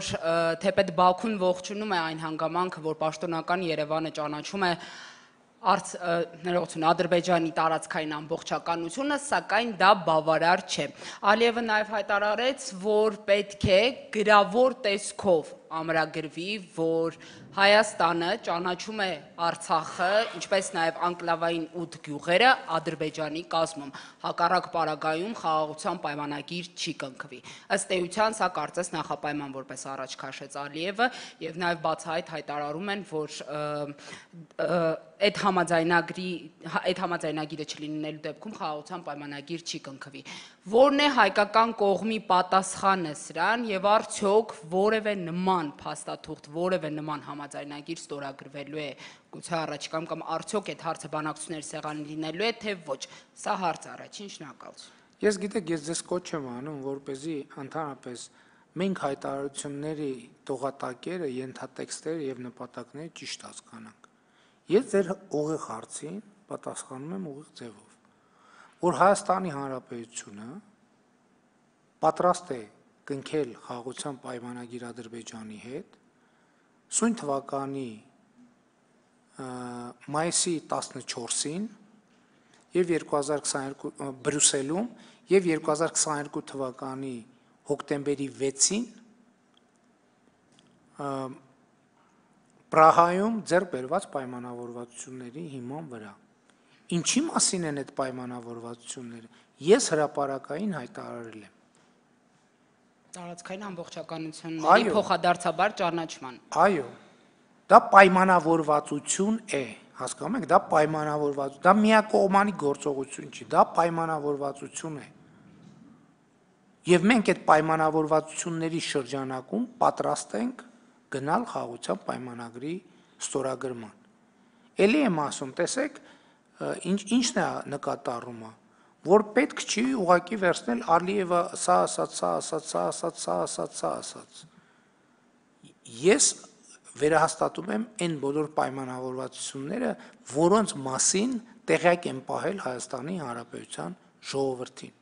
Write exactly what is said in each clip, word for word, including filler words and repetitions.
որ թեպետ Բաքուն ողջունում է այն հանգամանքը, որ պաշտոնական Երևանը ճանաչում է Ադրբեջանի տարածքային ամբողջականությունը, սակայն դա բավարար չէ։ Ալիևը նաև հայտարարեց, որ պետք է գրավոր տեսքով ամրագրվի, որ Հայաստանը ճանաչում է Արցախը, ինչպես նաև անկլավային ութ գյուղերը Ադրբեջանի կազմում, հակառակ պարագայում խաղաղության պայմանագիր չի կնքվի։ Ըստ էության սա կարծես նախապայման որպես առաջ քաշեց Ալիևը, եւ նաև բացահայտ հայտարարում են, որ այդ համաձայնագրի այդ համաձայնագիրը չլինելու դեպքում խաղաղության պայմանագիր չի կնքվի։ Որն է հայկական կողմի պատասխանը սրան եւ արդյոք որևէ նման փաստաթուղթ, որևէ նման համաձայնագիր ստորագրվելու է գուցե առաջիկայում կամ արդյոք այդ հարցը բանակցությունների սեղանին լինելու է, թե ոչ։ Սա հարց առաջին, շնորհակալություն։ Ես գիտեք, ես ձեզ կոչ եմ անում, որպեսզի ընդհանրապես մենք հայտարարությունների տողատակերը, ենթատեքստերը եւ նպատակները ճիշտ հասկանանք։ Ես ձեր ուղիղ հարցին պատասխանում եմ ուղիղ ձևով, որ Հայաստանի Հանրապետությունը պատրաստ է կնքել խաղաղության պայմանագիր Ադրբեջանի հետ սույն թվականի մայիսի տասնչորսին եւ երկու հազար քսաներկու Բրյուսելում եւ երկու հազար քսաներկու թվականի հոկտեմբերի վեցին Պրահայում ձեռք բերված պայմանավորվածությունների հիման վրա։ Ինչի մասին են այդ պայմանավորվածությունները։ Ես հրապարակային հայտարարել եմ։ Տարածքային ամբողջականությունների փոխադարձաբար ճանաչման։ Այո, դա պայմանավորվածություն է, հասկանում եք, դա պայմանավորվածություն, դա միակողմանի գործողություն չի, դա պայմանավորվածություն է։ Եվ մենք այդ պայմանավորվածությունների շրջանակում պատրաստ ենք գնալ խաղաղության պայմանագրի ստորագրման։ Էլի եմ ասում, տեսեք, ինչն է նկատառումը, որ պետք չի ուղղակի վերցնել Ալիևը սա ասաց, սա ասաց, սա ասաց, սա ասաց, սա ասաց։ Ես վերահաստատում եմ այն բոլոր պայմանավորվածությունները, որոնց մասին տեղյակ եմ պահել Հայաստանի Հանրապետության ժողովրդին։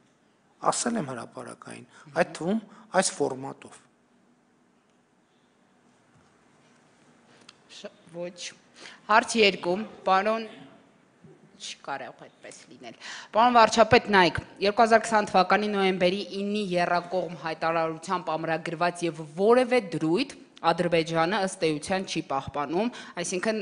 Ասել եմ հրապարակային, այդ թվում այս ֆորմատով։ Ոչ։ Հարց երկու, պարոն չկարող այդպես լինել։ Պարոն վարչապետ, նայեք, երկու հազար քսան թվականի նոյեմբերի իննի եռակողմ հայտարարությամբ ամրագրված եւ որևէ դրույթ Ադրբեջանը ըստ էության չի պահպանում, այսինքն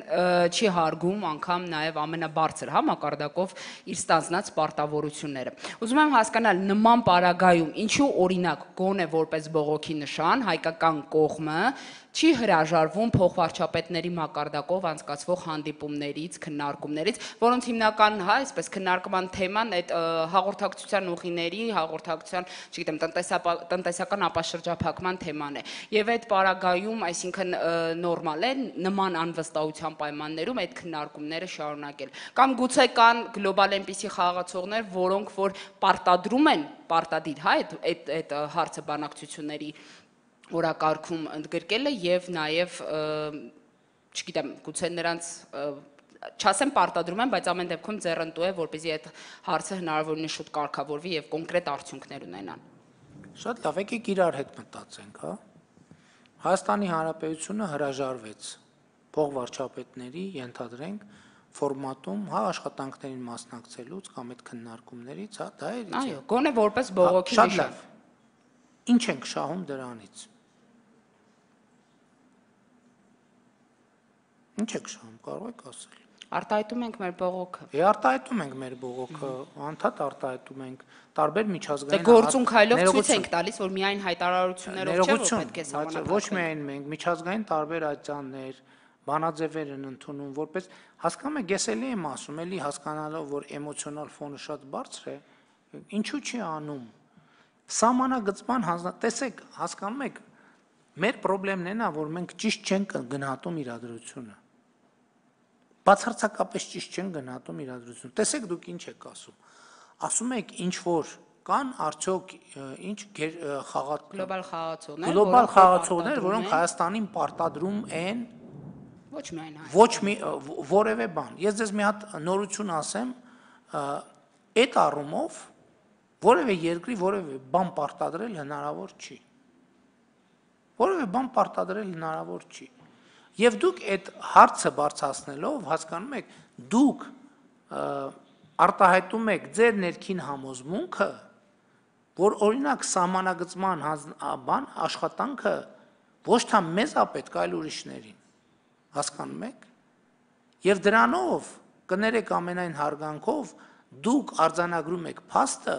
չի հարգում անգամ նաև ամենաբարձր հա մակարդակով իր ստանձնած պարտավորությունները։ Ուզում եմ հասկանալ նման պարագայում ինչու օրինակ գոնե որպես բողոքի նշան հայկական կողմը չի հրաժարվում փոխվարչապետների մակարդակով անցկացվող հանդիպումներից, քննարկումներից, որոնց հիմնական, հա, այսպես քննարկման թեման այդ հաղորդակցության ուղիների, հաղորդակցության, չգիտեմ, տնտեսական ապաշրջափակման թեման է։ Եվ այդ պարագայում, այսինքն նորմալ է նման անվստահության պայմաններում այդ քննարկումները շարունակել։ Կամ գուցե կան գլոբալ այնպիսի խաղացողներ, որոնք որ պարտադրում են պարտադիր, հա, այդ այդ հարցը բանակցությունների օրակարգում ընդգրկելը եւ նաեւ չգիտեմ գուցե նրանց չասեմ պարտադրում են, բայց ամեն դեպքում ձեռնտու է, որպեսզի այդ հարցը հնարավորինս շուտ կարգավորվի եւ կոնկրետ արդյունքներ ունենան։ Շատ լավ, եկեք իրար հետ մտածենք, հա։ Հայաստանի Հանրապետությունը հրաժարվեց փոխվարչապետների, ենթադրենք, ֆորմատում, հա, աշխատանքներին մասնակցելուց կամ այդ քննարկումներից, հա, դա է։ Այո, գոնե որպես բողոքի նշան։ Շատ լավ։ Ինչ ենք շահում դրանից։ Ինչ եք շահում, կարող եք ասել։ Արտահայտում ենք մեր բողոքը։ Է արտահայտում ենք մեր բողոքը, անդադ արտահայտում ենք տարբեր միջազգային Դե գործուն քայլով ցույց ենք տալիս, որ միայն հայտարարություններով չէ, որ պետք է սահմանափակել։ Ոչ միայն մենք, միջազգային տարբեր ատյաններ, բանաձևեր են ընդունում, որպես հասկանում եք, ես էլի եմ ասում, էլի հասկանալով, որ էմոցիոնալ ֆոնը շատ բարձր է, ինչու չի անում։ Սահմանագծման հանձնարարական, տեսեք, հասկանում եք, մեր խնդիրն է նա, որ մենք ճիշտ չենք գնահատում իրադրությունը։ Բացարձակապես ճիշտ չեն գնահատում իրադրությունը։ Տեսեք դուք ինչ եք ասում։ Ասում եք ինչ որ կան արդյոք ինչ գլոբալ խաղացողներ, գլոբալ խաղացողներ, որոնք Հայաստանին պարտադրում են ոչ միայն ոչ մի որևէ բան։ Ես ձեզ մի հատ նորություն ասեմ, այդ առումով որևէ երկրի որևէ բան պարտադրել հնարավոր չի։ որևէ բան պարտադրել հնարավոր չի։ Եվ դուք այդ հարցը բարձրացնելով հասկանում եք, դուք արտահայտում եք ձեր ներքին համոզմունքը, որ օրինակ սահմանագծման բան աշխատանքը ոչ թե մեզ է պետք, այլ ուրիշներին, հասկանում եք, եւ դրանով կներեք ամենայն հարգանքով դուք արձանագրում եք փաստը,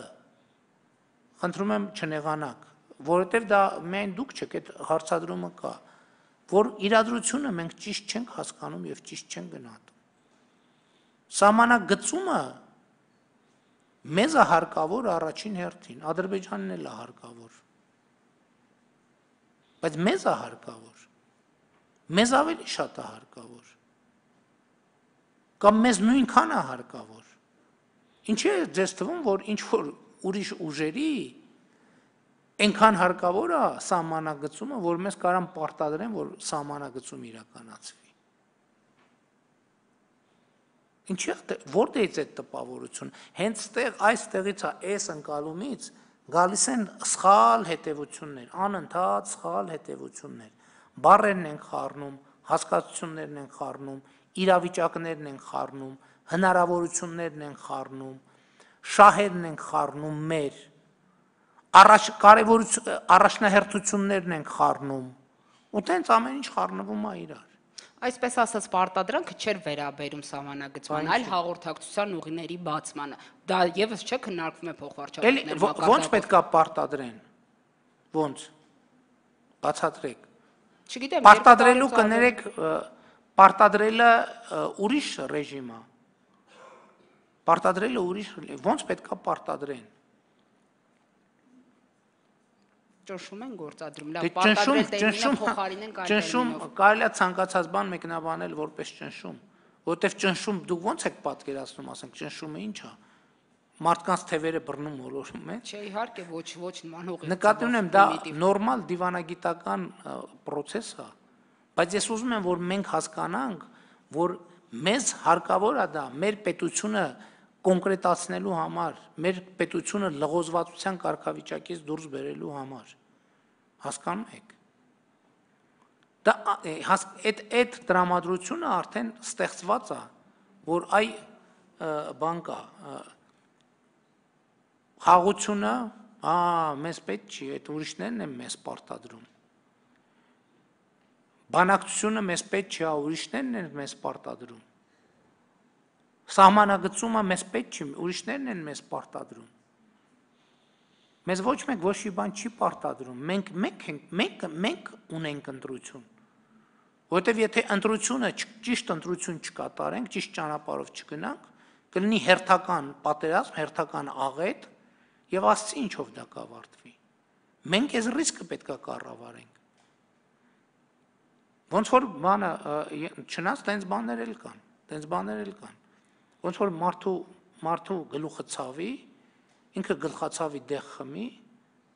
խնդրում եմ չնեղանաք, որովհետեւ դա միայն դուք չեք, այդ հարցադրումը կա, որ իրադրությունը մենք ճիշտ չենք հասկանում եւ ճիշտ չենք գնահատում։ Սահմանագծումը մեզ է հարկավոր առաջին հերթին, Ադրբեջանին էլ է հարկավոր, բայց մեզ է հարկավոր, մեզ ավելի շատ է հարկավոր, կամ մեզ նույնքան է հարկավոր, ինչի է ձեզ թվում, որ ինչ-որ ուրիշ ուժերի այնքան հարկավոր է սահմանագծումը, որ մեզ կարան պարտադրեն, որ սահմանագծում իրականացվի։ Ինչի է, որտեղից է տպավորություն, հենց ստեղ այստեղից է այս ընկալումից գալիս են սխալ հետևություններ, անընդհատ սխալ հետևություններ, բառերն են խառնում, հասկացություններն են խառնում, իրավիճակներն են խառնում, հնարավորություններն են խառնում, շահերն են խառնում մեր, առաջ կարևորություն առաջնահերթություններն են խառնում, ու տենց ամեն ինչ խառնվում է իրար։ Այսպես ասած պարտադրանքը չէր վերաբերում սահմանագծման, այլ հաղորդակցության ուղիների բացմանը։ Դա եւս չէ քննարկվում է փոխվարչապետների մակարդակով։ Ոնց պետք է պարտադրեն։ Ոնց։ Բացատրեք։ Չգիտեմ, պարտադրելու կներեք, պարտադրելը ուրիշ ռեժիմ է։ Պարտադրելը ուրիշ, ոնց պետք է պարտադրեն։ Ճնշում են գործադրում, լավ, պարտադրել տերմինը փոխարինեն այլ տերմինով։ Ճնշում կարելի է ցանկացած բան մեկնաբանել որպես ճնշում, որովհետև ճնշում դուք ոնց եք պատկերացնում, ասենք ճնշումը ինչ է։ Մարդկանց թևերը բռնում մոլորում է։ Չէ, իհարկե, ոչ, ոչ նման ուղի։ Նկատի ունեմ, դա նորմալ դիվանագիտական process է, բայց ես ուզում եմ, որ մենք հասկանանք, որ մեզ հարկավոր է դա մեր պետությունը կոնկրետացնելու համար, մեր պետությունը լղոզվածության կարգավիճակից դուրս բերելու համար, հասկանում եք, դա այդ այդ տրամադրությունը արդեն ստեղծված է, որ այ բան կա, խաղությունը, ա, մեզ պետք չի, այդ ուրիշներն են մեզ պարտադրում, բանակցությունը մեզ պետք չի, ուրիշներն են մեզ պարտադրում, սահմանագծումը մեզ պետք չի, ուրիշներն են մեզ պարտադրում։ Մեզ ոչ մեկ ոչ մի բան չի պարտադրում, մենք մենք մենք մենք ունենք ընտրություն։ Որովհետև եթե ընտրությունը ճիշտ ընտրություն չկատարենք, ճիշտ ճանապարհով չգնանք, կլինի հերթական պատերազմ, հերթական աղետ, եւ ասցի ինչով դա կավարտվի։ Մենք այս ռիսկը պետք է կառավարենք։ Ոնց որ բանը, չնայած տենց բաներ էլ կան, տենց բաներ էլ կան։ Ոնց որ մարդու մարդու գլուխը ցավի, ինքը գլխացավի դեղ խմի,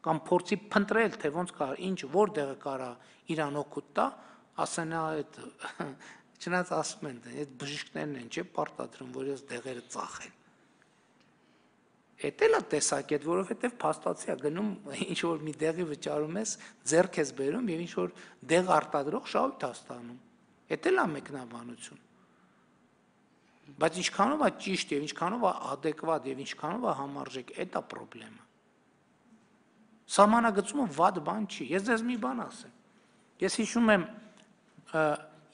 կամ փորձի փնտրել, թե ոնց կա, ինչ որտեղը կարա իրան օգուտ տա, ասենա այդ չնայած ասում են, այդ բժիշկներն են, չէ, պարտադրում, որ ես դեղերը ծախեն։ Էդ էլ է տեսակետ, որովհետև փաստացի է գնում, ինչ որ մի դեղի վճարում ես, ձեռք ես բերում եւ ինչ որ դեղ արտադրող շահույթ է ստանում։ Էդ էլ է մեկնաբանություն։ Բայց ինչքանով է ճիշտ եւ ինչքանով է adekvat եւ ինչքանով է համարժեք, այդ է խնդրեմը։ Սահմանագծումը վատ բան չի։ Ես ձեզ մի բան ասեմ։ Ես հիշում եմ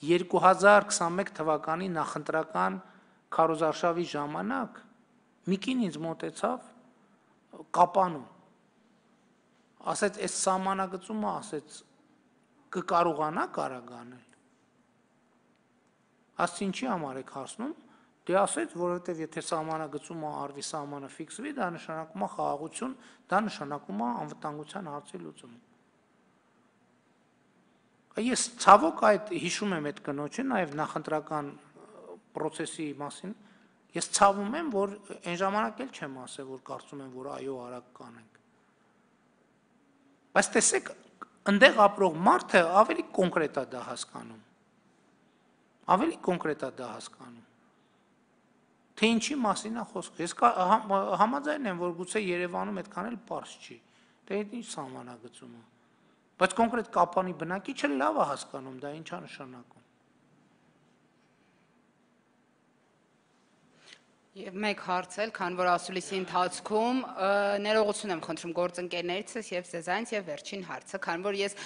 երկու հազար քսաներկու թվականի նախընտրական քարոզարշավի ժամանակ մի կին ինձ մոտեցավ կապանում։ Ասեց, այս սահմանագծումը, ասեց, կկարողանա կարագանել։ Ասց ինչի համար եք հասնում։ Դե ասեց, որովհետև եթե սահմանագծումը արվի, սահմանը ֆիքսվի, դա նշանակում է խաղաղություն, դա նշանակում է անվտանգության հարցի լուծում։ Ես ցավոք այդ հիշում եմ այդ կնոջը, նաև նախընտրական process-ի մասին, ես ցավում եմ, որ այն ժամանակ էլ չեմ ասել, որ կարծում եմ, որ այո, արագ կանենք։ Բայց տեսեք, այնտեղ ապրող մարդը ավելի կոնկրետ է դա հասկանում։ Ավելի կոնկրետ է դա հասկանում։ Թե ինչի մասին է խոսքը։ Ես համաձայն եմ, որ գուցե Երևանում այդքան էլ պարզ չի։ Դե այդ ինչ սահմանագծում է։ Բայց կոնկրետ կապանի բնակիչը լավ է հասկանում, դա ինչ է նշանակում։ Եվ մեկ հարց էլ, քան որ ասուլիսի ընթացքում ներողություն եմ խնդրում գործընկերներիցս եւ ձեզանից եւ վերջին հարցը, քան որ ես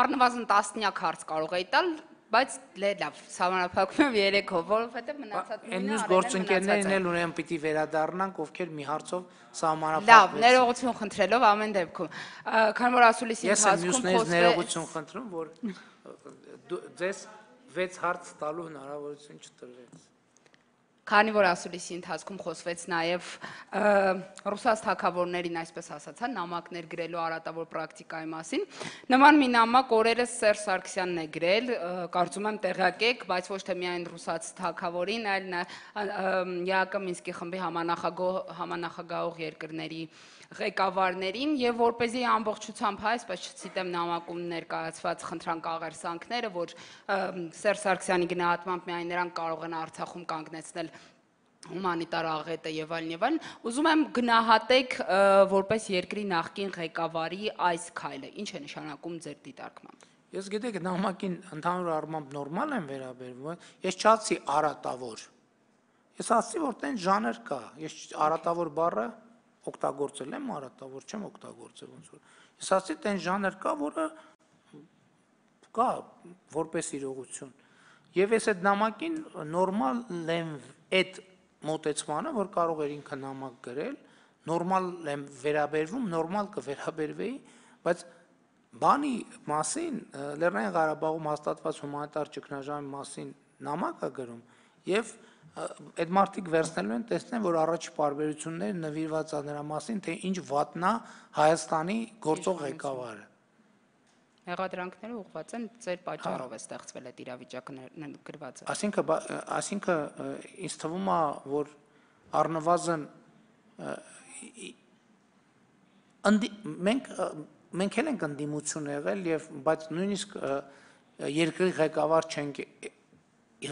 առնվազն տասնյակ հարց կարող էի տալ, բայց լավ, սահմանափակում եմ երեքով, որովհետեւ մնացած Այն մյուս գործընկերներին էլ ուրեմն պիտի վերադառնանք, ովքեր մի հարցով սահմանափակվեցին։ Լավ, ներողություն խնդրելով ամեն դեպքում, քան որ ասուլիսի ընթացքում խոսվեց։ Ես ներողություն խնդրում, որ ձեզ վեց հարց տալու հնարավորություն չտրվեց։ Քանի որ ասուլիսի ընթացքում խոսվեց նաև ռուսաց թագավորներին, այսպես ասացան, նամակներ գրելու արատավոր պրակտիկայի մասին, նման մի նամակ օրերս Սերժ Սարգսյանն է գրել, կարծում եմ տեղյակ եք, բայց ոչ թե միայն ռուսաց թագավորին, այլ ԵԱԿ Մինսկի խմբի համանախագահող երկրների ղեկավարներին եւ որպեսզի ամբողջությամբ հայ, այսպես չցիտեմ նամակում ներկայացված խնդրանք աղերսանքները, որ Սերժ Սարգսյանի գնահատմամբ միայն նրանք կարող են Արցախում կանգնեցնել հումանիտար աղետը եւ այլն եւ այլն, ուզում եմ գնահատեք որպես երկրի նախկին ղեկավարի այս քայլը, ինչ է նշանակում ձեր դիտարկմամբ։ Ես գիտեք, նամակին ընդհանուր առմամբ նորմալ եմ վերաբերվում, ես չասի արատավոր։ Ես ասի, որ տեն ժանր կա, ես արատավոր բառը օգտագործել եմ, արատավոր չեմ օգտագործել ոնց որ։ Ես ասի տեն ժանր կա, որը կա որպես իրողություն։ Եվ ես այդ նամակին նորմալ եմ այդ մոտեցմանը, որ կարող էր ինքը նամակ գրել, նորմալ եմ վերաբերվում, նորմալ կվերաբերվեի, բայց բանի մասին, Լեռնային Ղարաբաղում հաստատված հումանիտար ճգնաժամի մասին նամակ է գրում եւ այդ մարդիկ վերցնելու են տեսնեն, որ առաջի պարբերությունները նվիրված է նրա մասին, թե ինչ վատնա Հայաստանի գործող ղեկավարը։ Հեղադրանքները ուղղված են ձեր պատճառով է ստեղծվել այդ իրավիճակը գրված է։ Այսինքն, այսինքն ինձ թվում է, որ առնվազն մենք մենք էլ ենք ընդդիմություն եղել եւ բայց նույնիսկ երկրի ղեկավար չենք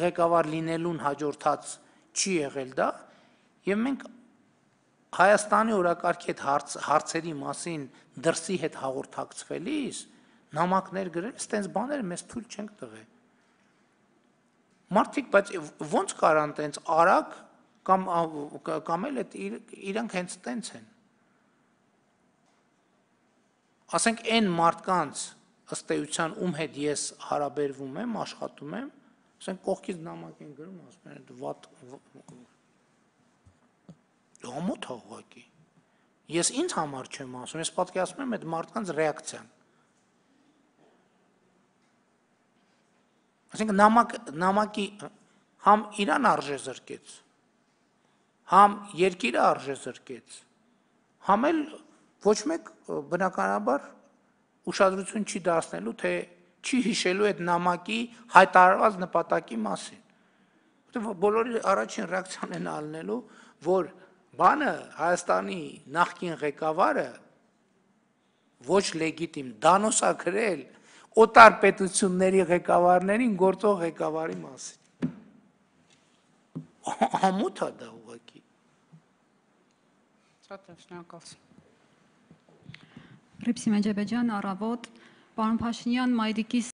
ղեկավար լինելուն հաջորդած չի եղել դա եւ մենք Հայաստանի օրակարգի հետ հարցերի մասին դրսի հետ հաղորդակցվելիս նամակներ գրել, ստենց բաները մեզ թույլ չենք տվել։ Մարդիկ, բայց ո՞նց կարան տենց արագ կամ կամ էլ այդ իրանք հենց տենց են։ Ասենք այն մարդկանց ըստ էության ում հետ ես հարաբերվում եմ, աշխատում եմ, ասենք կողքից նամակ են գրում, ասում են վատ ամոթ ուղղակի։ Ես ինձ համար չեմ ասում, ես պատկերացնում եմ այդ մարդկանց ռեակցիան։ Այսինքն նամակ նամակի համ իրան արժե զրկեց, համ երկիրը արժե զրկեց, համ էլ ոչ մեկ բնականաբար ուշադրություն չի դարձնելու, թե չի հիշելու այդ նամակի հայտարարված նպատակի մասին։ Որտեղ բոլորի առաջին ռեակցիան են ալնելու, որ բանը Հայաստանի նախկին ղեկավարը ոչ լեգիտիմ դանոս է գրել օտար պետությունների ղեկավարներին գործող ղեկավարի մասին։ Ամոթ է դա ուղղակի։ Շատ շնորհակալություն։ Ռիփսի Մեջեբեջյան, Առավոտ, պարոն Փաշինյան, Մայրիկի